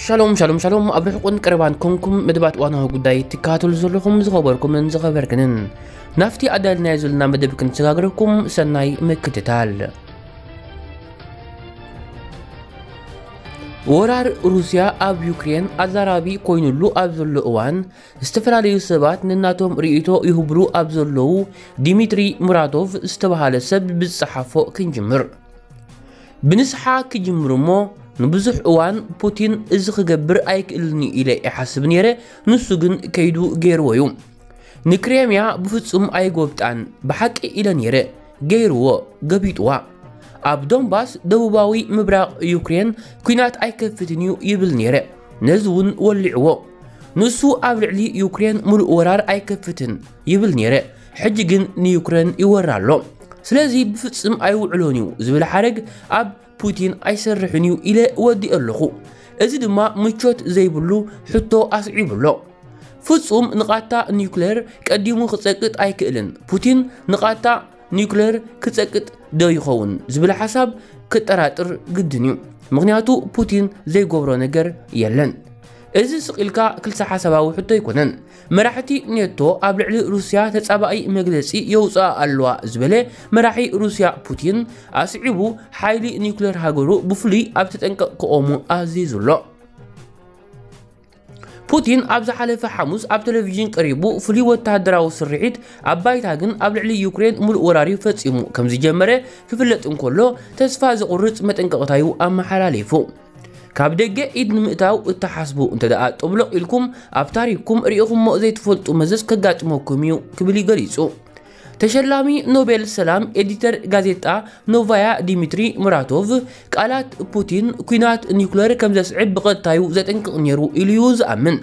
ሻሎም ሻሎም ሻሎም፣ ኣብ ርሑቕን ቀረባን ኮንኩም መደባት እዋናዊ ጉዳይ ትከታተሉ ዘለኹም ዝኸበርኩምን ዝኸበርክንን፣ ናብቲ ኣዳልናዮ ዘለና መደብ ክንሰጋግረኩም ሰናይ ምክትታል። ወራር ሩስያ ኣብ ዩክሬን ኣዛራቢ ኮይኑሉ ኣብ ዘሎ እዋን፣ ዝተፈላለዩ ሰባት ነናቶም ርእይቶ ይህብሉ ኣብ ዘለዉ፣ ዲሚትሪ ሙራቶቭ ዝተባሃለ ሰብ ብዝጸሓፎ ክንጅምር። ብንስሓ ክጅምር እሞ፣ ንብዙሕ እዋን ፑቲን እዚ ክገብር ኣይክእልን እዩ ኢለ ይሓስብ ነይረ፣ ንሱ ግን ከይዱ ገይርዎ እዩ። ንክሬምያ ብፍጹም ኣይጎብጣን፣ ብሓቂ ኢለ ነይረ፣ ገይርዎ፣ ገቢጥዋ። ኣብ ዶንባስ ደቡባዊ ምብራቕ ዩክሬን ኲናት ኣይከፍትን እዩ ይብል ነይረ፣ ነዚ እውን ወሊዕዎ። ንሱ ኣብ ልዕሊ ዩክሬን ሙሉእ ወራር ኣይከፍትን ይብል ነይረ፣ ሕጂ ግን ንዩክሬን ይወራ ኣሎ። ስለዚ ብፍጹም ኣይውዕሎን እዩ ዝብል ሓረግ ኣብ ፑቲን ኣይሰርሕን እዩ ኢለ ወዲእ ኣለኹ። እዚ ድማ ምቾት ዘይብሉ ሕቶ ኣስዒቡ ኣሎ። ፍጹም ንቓታ ኒውክሌር ቀዲሙ ክጸቅጥ ኣይክእልን። ፑቲን ንቓታ ኒውክሌር ክጸቅጥ ዶ ይኸውን ዝብል ሓሳብ ክጠራጥር ግድን እዩ። ምኽንያቱ ፑቲን ዘይገብሮ ነገር የለን። እዚ ስቕ ኢልካ ክልተ ሓሳባዊ ሕቶ ኣይኮነን። መራሕቲ ኔቶ ኣብ ልዕሊ ሩስያ ተጻባኢ መግለጺ የውጽኣ ኣለዋ ዝበለ መራሒ ሩስያ ፑቲን፣ ኣስዒቡ ሓይሊ ኒውክሌር ሃገሩ ብፍሉይ ኣብ ተጠንቀቕ ክቖሙ ኣዚዙ ኣሎ። ፑቲን ኣብ ዝሓለፈ ሓሙስ ኣብ ቴሌቪዥን ቀሪቡ፣ ፍሉይ ወተሃደራዊ ስርሒት ኣብ ባይታ ግን ኣብ ልዕሊ ዩክሬን ሙሉእ ወራር እዩ ፈጺሙ ከም ዝጀመረ ክፍለጥ እንከሎ፣ ተስፋ ዘቑርጽ መጠንቀቕታ እዩ ኣመሓላሊፉ። ካብ ደገ ኢድ ንምእታው እትሓስቡ እንተ ደኣ ጠብሎቕ ኢልኩም፣ ኣብ ታሪኽኩም ርኢኹሞ ዘይትፈልጡ መዘዝ ከጋጥመኩም እዩ ክብል እዩ ገሊጹ። ተሸላሚ ኖቤል ሰላም ኤዲተር ጋዜጣ ኖቫያ ዲሚትሪ ሙራቶቭ፣ ቃላት ፑቲን ኲናት ኒውክለር ከም ዘስዕብ ብቐጥታዩ ዘጠንቅቕ ነይሩ ኢሉ እዩ ዝኣምን።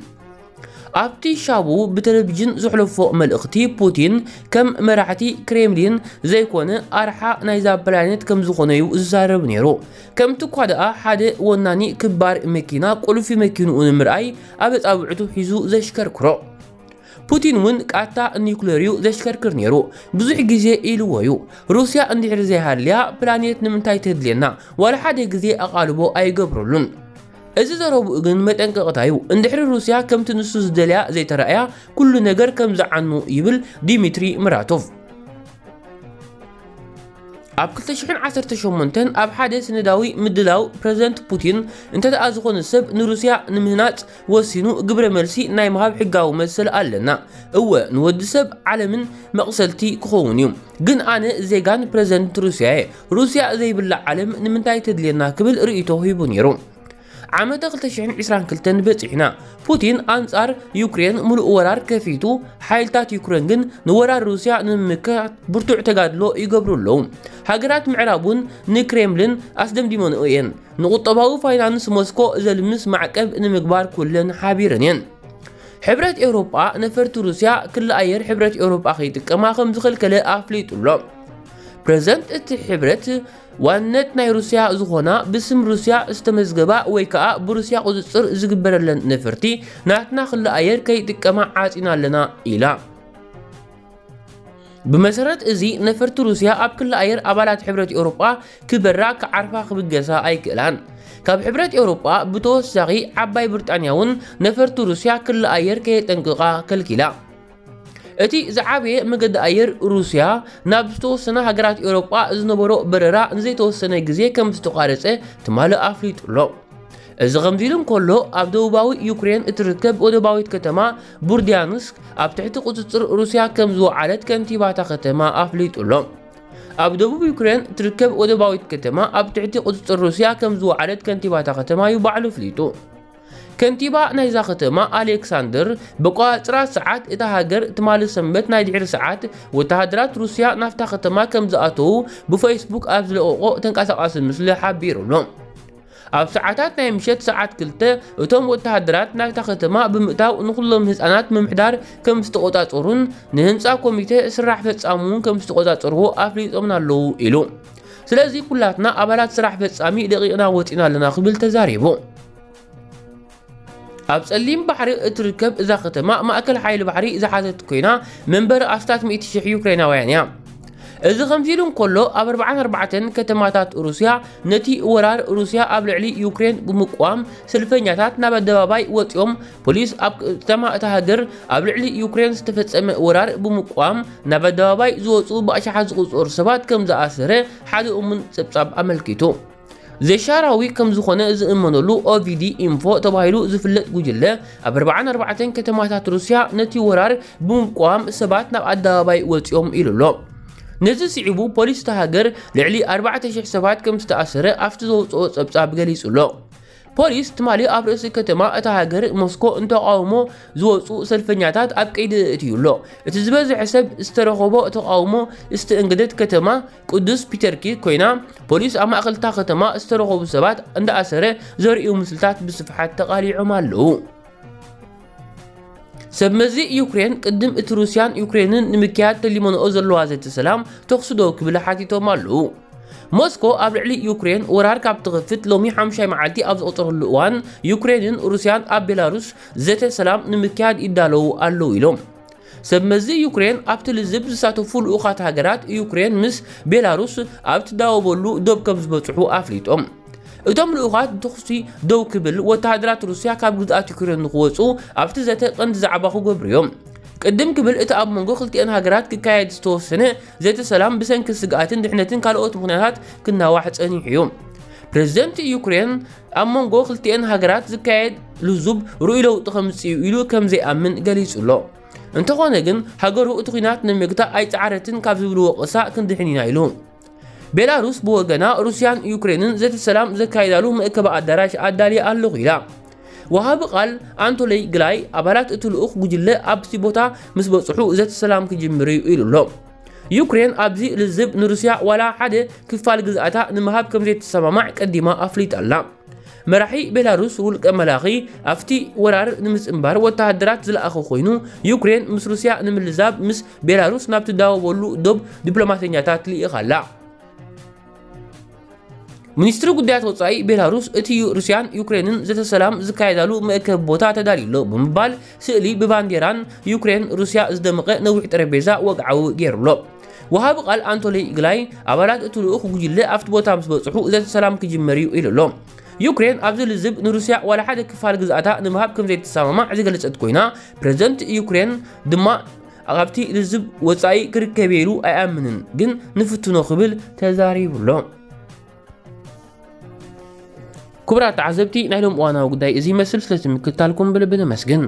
ኣብቲ ሻቡ ብቴሌቪዥን ዘሕለፎ መልእኽቲ፣ ፑቲን ከም መራሕቲ ክሬምሊን ዘይኮነ፣ ኣርሓ ናይዛ ፕላኔት ከም ዝኾነ እዩ ዝዛረብ ነይሩ። ከምቲ እኳ ደኣ ሓደ ወናኒ ክባር መኪና ቁልፊ መኪንኡ ንምርኣይ ኣብ ኣጻብዕቱ ሒዙ ዘሽከርክሮ። ፑቲን እውን ቃታ ኒውክሌር እዩ ዘሽከርክር ነይሩ። ብዙሕ ግዜ ኢልዎ እዩ። ሩስያ እንድሕር ዘይሃልያ ፕላኔት ንምንታይ ተድልየና? ዋላ ሓደ ግዜ ኣቓልቦ ኣይገብረሉን። እዚ ዘረብኡ ግን መጠንቀቕታ እዩ። እንድሕሪ ሩስያ ከምቲ ንሱ ዝደልያ ዘይተራእያ፣ ኩሉ ነገር ከም ዝዓኑ ይብል ዲሚትሪ ምራቶቭ። ኣብ ክልተ ሽሕን ዓሰርተ ሸሞንተን ኣብ ሓደ ሰነዳዊ ምድላው፣ ፕረዚደንት ፑቲን፣ እንተ ደኣ ዝኾነ ሰብ ንሩስያ ንምህናጽ ወሲኑ፣ ግብረ መልሲ ናይ ምሃብ ሕጋዊ መሰል ኣለና። እወ፣ ንወዲ ሰብ ዓለምን መቕሰልቲ ክኸውን እዩ። ግን ኣነ ዜጋን ፕረዚደንት ሩስያ እየ። ሩስያ ዘይብላ ዓለም ንምንታይ ተድልየና? ክብል ርእይቶ ሂቡ ነይሩ። ዓመተ ክልተ ሽሕን ዕስራን ክልተን በጺሕና። ፑቲን ኣንጻር ዩክሬን ምሉእ ወራር ከፊቱ፣ ሓይልታት ዩክሬን ግን ንወራር ሩስያ ንምምካት ብርቱዕ ተጋድሎ ይገብሩ ኣለዉ። ሃገራት ምዕራብ እውን ንክሬምሊን ኣስደምዲመንኦ እየን። ንቁጠባዊ ፋይናንስ ሞስኮ ዘልምስ ማዕቀብ ንምግባር ኩለን ሓቢረን እየን። ሕብረት ኤውሮጳ ነፈርቲ ሩስያ ክሊ ኣየር ሕብረት ኤውሮጳ ከይጥቀማ ከም ዝኸልከለ ኣፍሊጡ ኣሎ። ፕረዚደንት እቲ ሕብረት፣ ዋንነት ናይ ሩስያ ዝኾና ብስም ሩስያ ዝተመዝገባ ወይ ከኣ ብሩስያ ቁጽጽር ዝግበረለን ነፈርቲ ናትና ክሊ ኣየር ከይጥቀማ ዓጺና ኣለና ኢላ። ብመሰረት እዚ ነፈርቲ ሩስያ ኣብ ክሊ ኣየር ኣባላት ሕብረት ኤውሮጳ ክበራ፣ ክዓርፋ፣ ክብገሳ ኣይክእላን። ካብ ሕብረት ኤውሮጳ ብተወሳኺ ዓባይ ብሪጣንያ እውን ነፈርቲ ሩስያ ክሊ ኣየር ከየጠንቅቓ ከልኪላ። እቲ ዝዓበየ መገዲ ኣየር ሩስያ ናብ ዝተወሰና ሃገራት ኤውሮጳ ዝነበሮ በረራ ንዘይተወሰነ ግዜ ከም ዝተቋረጸ ትማሊ ኣፍሊጡ ኣሎ። እዚ ከምዚ ኢሉ እንከሎ፣ ኣብ ደቡባዊ ዩክሬን እትርከብ ወደባዊት ከተማ ቡርድያንስክ ኣብ ትሕቲ ቁጽጽር ሩስያ ከም ዝወዓለት ከንቲባ እታ ከተማ ኣፍሊጡ ኣሎ። ኣብ ደቡብ ዩክሬን እትርከብ ወደባዊት ከተማ ኣብ ትሕቲ ቁጽጽር ሩስያ ከም ዝወዓለት ከንቲባ እታ ከተማ እዩ ባዕሉ ኣፍሊጡ። ከንቲባ ናይዛ ከተማ ኣሌክሳንደር፣ ብኣቆጻጽራ ሰዓት እታ ሃገር ትማሊ ሰንበት ናይ ድሕሪ ሰዓት ወተሃደራት ሩስያ ናብታ ከተማ ከም ዝኣተዉ ብፌስቡክ ኣብ ዝለቐቖ ተንቀሳቓሲ ምስሊ ሓቢሩ ኣሎ። ኣብ ሰዓታት ናይ ምሸት ሰዓት ክልተ፣ እቶም ወተሃደራት ናብታ ከተማ ብምእታው ንኹሎም ህጻናት ምምሕዳር ከም ዝተቖጻጸሩን ንህንጻ ኮሚተ ስራሕ ፈጻሚ እውን ከም ዝተቖጻጸርዎ ኣፍሊጦምና ኣለዉ ኢሉ። ስለዚ ኩላትና ኣባላት ስራሕ ፈጻሚ ለቒቕና ወጺና ኣለና ክብል ተዛሪቡ። ኣብ ጸሊም ባሕሪ እትርከብ እዛ ከተማ ማእከል ሓይሊ ባሕሪ ዝሓዘት ኮይና፣ መንበሪ ኣስታት ሚእቲ ሽሕ ዩክሬናውያን እያ። እዚ ከምዚ ኢሉ እንከሎ፣ ኣብ ኣርባዓን ኣርባዕተን ከተማታት ሩስያ ነቲ ወራር ሩስያ ኣብ ልዕሊ ዩክሬን ብምቋም ሰልፈኛታት ናብ ኣደባባይ ወጺኦም። ፖሊስ ኣብ ከተማ እታ ሃገር ኣብ ልዕሊ ዩክሬን ዝተፈጸመ ወራር ብምቋም ናብ ኣደባባይ ዝወጹ ብኣሽሓት ዝቑጸሩ ሰባት ከም ዝኣሰረ ሓደ እሙን ጸብጻብ ኣመልኪቱ። ዘሻራዊ ከም ዝኾነ ዝእመነሉ ኦቪዲ ኢንፎ ተባሂሉ ዝፍለጥ ጉጅለ፣ ኣብ ኣርባዓን ኣርባዕተን ከተማታት ሩስያ ነቲ ወራር ብምቋም ሰባት ናብ ኣደባባይ ወጺኦም ኢሉ ኣሎ። ነዚ ስዒቡ ፖሊስ እታ ሃገር ልዕሊ ኣርባዕተ ሽሕ ሰባት ከም ዝተኣሰረ ኣብቲ ዘውፅኦ ጸብጻብ ገሊጹ ኣሎ። ፖሊስ ትማሊ ኣብ ርእሲ ከተማ እታ ሃገር ሞስኮ ንተቓውሞ ዝወፁ ሰልፈኛታት ኣብ ቀይዲ እእትዩ ኣሎ። እቲ ዝበዝሐ ሰብ ዝተረኸቦ ተቓውሞ ዝተእንገደት ከተማ ቅዱስ ፒተርኪ ኮይና፣ ፖሊስ ኣብ ማእከል እታ ከተማ ዝተረኸቡ ሰባት እንዳኣሰረ ዘርእዩ ምስልታት ብስፍሓት ተቓሊዖም ኣለዉ። ሰብ መዚ ዩክሬን ቅድም እቲ ሩስያን ዩክሬንን ንምክያድ ተሊመንኦ ዘለዋ ዘተ ሰላም ተኹሲ ደው ክብል ሓቲቶም ኣለዉ። ሞስኮ ኣብ ልዕሊ ዩክሬን ወራር ካብ ትኸፍት ሎሚ ሓሙሻይ መዓልቲ ኣብ ዝቑጸረሉ እዋን፣ ዩክሬንን ሩስያን ኣብ ቤላሩስ ዘተ ሰላም ንምክያድ ይዳለዉ ኣለዉ ኢሎም። ሰብ መዚ ዩክሬን ኣብቲ ልዝብ ዝሳተፉ ልኡኻት ሃገራት ዩክሬን ምስ ቤላሩስ ኣብ ትዳወበሉ ዶብ ከም ዝበጽሑ ኣፍሊጦም። እቶም ልኡኻት ተኹሲ ደው ክብል፣ ወተሃደራት ሩስያ ካብ ግዝኣት ዩክሬን ንክወጹ ኣብቲ ዘተ ቀንዲ ዛዕባ ክገብሩ እዮም። ቅድም ክብል እቲ ኣብ መንጎ ክልቲኣን ሃገራት ክካየድ ዝተወሰነ ዘተ ሰላም ብሰንኪ ስግኣትን ድሕነትን ካልኦት ምኽንያታት ክናዋሕ ጸኒሑ እዩ። ፕሬዝደንት ዩክሬን ኣብ መንጎ ክልቲኣን ሃገራት ዝካየድ ልዙብ ርኡይ ለውጢ ከምጽእ እዩ ኢሉ ከም ዘይኣምን ገሊጹ ኣሎ። እንተኾነ ግን ሃገሩ እቲ ኲናት ንምግታእ ኣይጸዓረትን ካብ ዝብል ወቐሳ ክንድሕን ኢና ኢሉ። ቤላሩስ ብወገና ሩስያን ዩክሬንን ዘተ ሰላም ዘካይዳሉ መእከቢ ኣዳራሽ ኣዳልየ ኣለኹ ኢላ። ወሃቢ ቃል ኣንቶለይ ግላይ ኣባላት እቲ ልኡኽ ጉጅለ ኣብቲ ቦታ ምስ በጽሑ ዘተ ሰላም ክጅምር እዩ ኢሉ ኣሎ። ዩክሬን ኣብዚ ልዝብ ንሩስያ ዋላ ሓደ ክፋል ግዝኣታ ንምሃብ ከም ዘይትሰማማዕ ቀዲማ ኣፍሊጣ ኣላ። መራሒ ቤላሩስ ውልቀ መላኺ ኣብቲ ወራር ንምጽንባር ወተሃደራት ዝለኣኸ ኮይኑ፣ ዩክሬን ምስ ሩስያ ንምልዛብ ምስ ቤላሩስ ናብ ትዳወበሉ ዶብ ዲፕሎማተኛታት ልኢኻ ኣላ። ሚኒስትሪ ጉዳያት ወጻኢ ቤላሩስ እቲ ሩስያን ዩክሬንን ዘተ ሰላም ዝካየዳሉ መእከቢ ቦታ ተዳልዩ ኣሎ ብምባል ስእሊ ብባንዴራን ዩክሬን ሩስያ ዝደመቐ ነዊሕ ጠረጴዛ ወግዓዊ ገይሩ ኣሎ። ወሃቢ ቃል ኣንቶሊ ግላይ ኣባላት እቲ ልኡኽ ጉጅለ ኣብቲ ቦታ ምስ በጽሑ ዘተ ሰላም ክጅመር እዩ ኢሉ ኣሎ። ዩክሬን ኣብዚ ልዝብ ንሩስያ ዋላ ሓደ ክፋል ግዝኣታ ንምሃብ ከም ዘይትሰማማዕ ዝገለጸት ኮይና፣ ፕሬዝደንት ዩክሬን ድማ ካብቲ ልዝብ ወጻኢ ክርከብ ኢሉ ኣይኣምንን፣ ግን ንፍትኖ ክብል ተዛሪቡ ኣሎ። ክቡራት ተዓዘብቲ፣ ናይ ሎም እዋናዊ ጉዳይ እዚ ይመስል። ስለቲ ምክትታልኩም ብልቢ ነመስግን።